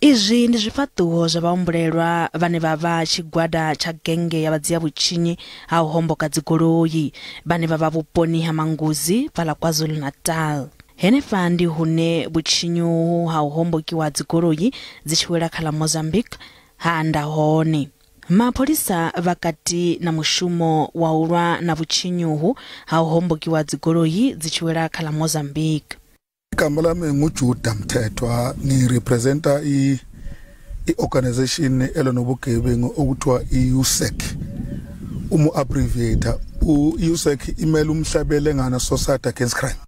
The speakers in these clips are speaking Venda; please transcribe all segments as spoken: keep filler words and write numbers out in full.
Izwi ndi zwifhaṱuwo zwa vhahumbulelwa vhane vha vha tshigwada tsha genge ya vhadzia vhutshinyi ha u homboka dzigoloi vhane vha vha vhuponi ha Manguzi fhaḽa KwaZulu-Natal. Henefha ndi hune vhutshinyi uhu ha u hombokiwa dzigoloi dzi tshi wela kha ḽa Mozambique ha anda hone. Mapholisa vha kati na mushumo wa u lwa na vhutshinyi uhu ha u hombokiwa dzigoloi dzi tshi wela kha ḽa Mozambique. Igama lami nguJuda Mthethwa, ngirepresenta i i-organization elwa nobugebengu okuthiwa i-U S E C. Uma abbreviate, u-U S E C imela Umhlabelengana Society Against Crime.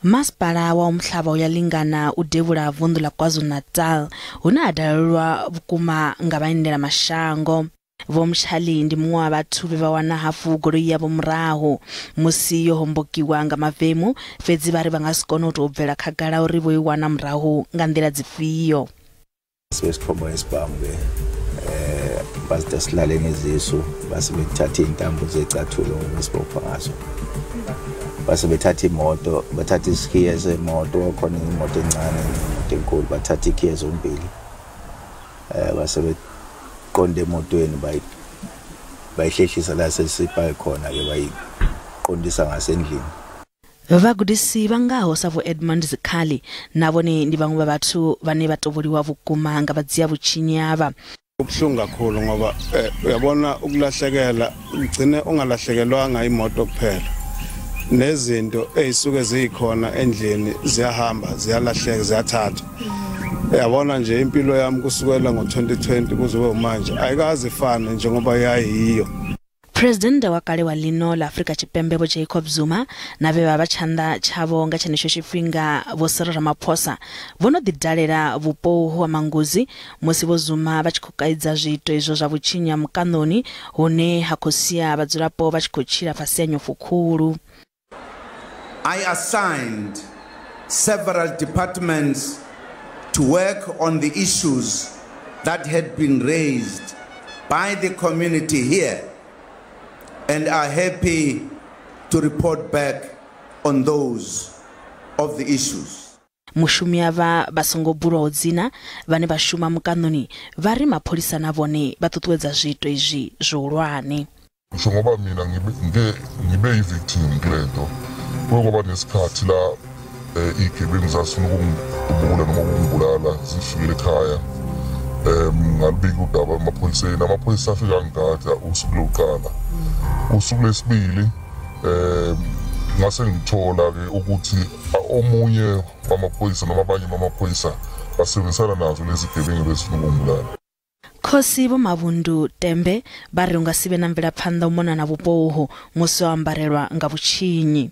Masipala wa Umhlaba Uyalingana u devhula vunḓu ḽa KwaZulu-Natal hune ha dalelwa vhukuma nga vhaendela mashango. Vho Mtshali ndi muṅwe wa vhathu vhe vha wana hafhu goloi yavho murahu musi yo hombokiwa nga mavemu, fhedzi vha ri vha nga si kone u tou bvela khagala uri vho i wana murahu nga nḓila dzifhio. Sesikhomba isibhamu ke eh baside silale ngezisu, base bethatha intambo zecathulo besibopha ngazo, base bethatha imoto, bathatha isikhiye semoto. Khona imoto encane, imoto enkulu, bathatha ikhiye zombili, eh base beqonde emotweni, bayi bayihlehlisa la sesipake khona ke, bayiqondisa ngasendlini. Vhagudisi vha ngaho sa Vho Edmund Zikhali na vhone ndi vhaṅwe vha vhathu vhane vha tovholiwa vhukuma nga vhadzia vhutshinyi avha. Kubuhlungu kakhulu ngoba eh, uyabona ukulahlekela ugcine ungalahlekelwanga imoto kuphela, nezinto ezisuke zikhona endlini ziyahamba, ziyalahleka, ziyathathwa. Uyabona nje impilo yami kusukela ngo-twenty twenty kuze kube manje ayikaze ifane njengoba yayiyo. President wa kale wa ḽino ḽa Afrika Tshipembe Vho Jacob Zuma na vhe vha vha tshanḓa tshavho nga tshenetsho tshifhinga Vho Cyril Ramaphosa vho no ḓi dalela vhupo uhu ha Manguzi musi Vho Zuma vha tshi khou kaidza zwiito izwo zwa vhutshinyi ha mukaṋoni hune ha khou sia vhadzulapo vha tshi khou tshila fhasi ha nyofho khulu. I assigned several departments to work on the issues that had been raised by the community here and are happy to report back on those of the issues. Mushumi avha vha songo bulwaho dzina vhane vha shuma mukaṋoni vha ri mapholisa na vhone vha ṱuṱuwedza zwiito izwi zwihulwane. Ngisho ngoba mina ngibe ngike ngibe yi-victim kule nto. Kuke kwaba nesikhathi la eh, iy'gebengu zazifuna ukungidubula noma ukungibulala, zifikile ekhaya. um ngalubika udaba emaphoyiseni, amaphoyisa afika angigada usuku lokuqala. Usuku lwesibili um ngase ngithola-ke ukuthi omunye wamaphoyisa noma abanye bamaphoyisa basebenzisana nazo lezi gebengu bezifuna ukungibulala. Khosi Vho Mavhundu Tembe vha ri hu nga si vhe na mvelaphanḓa u mona na vhupo uhu musi o ambarelwa nga vhutshinyi.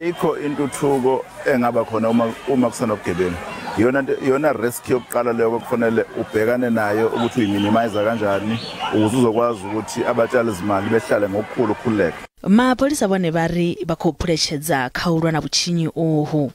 Ikho intuthuko engaba khona uma uma kusenobugebengu. Iyona nto, iyona risk yokuqala leyo kufanele ubhekane nayo ukuthi uyiminimize kanjani ukuze uzokwazi ukuthi abatshali izimali behlale ngokukhulu ukukhululeka. Mapholisa vhone vha ri vha khou phuletshedza kha u lwa na vhutshinyi uhu.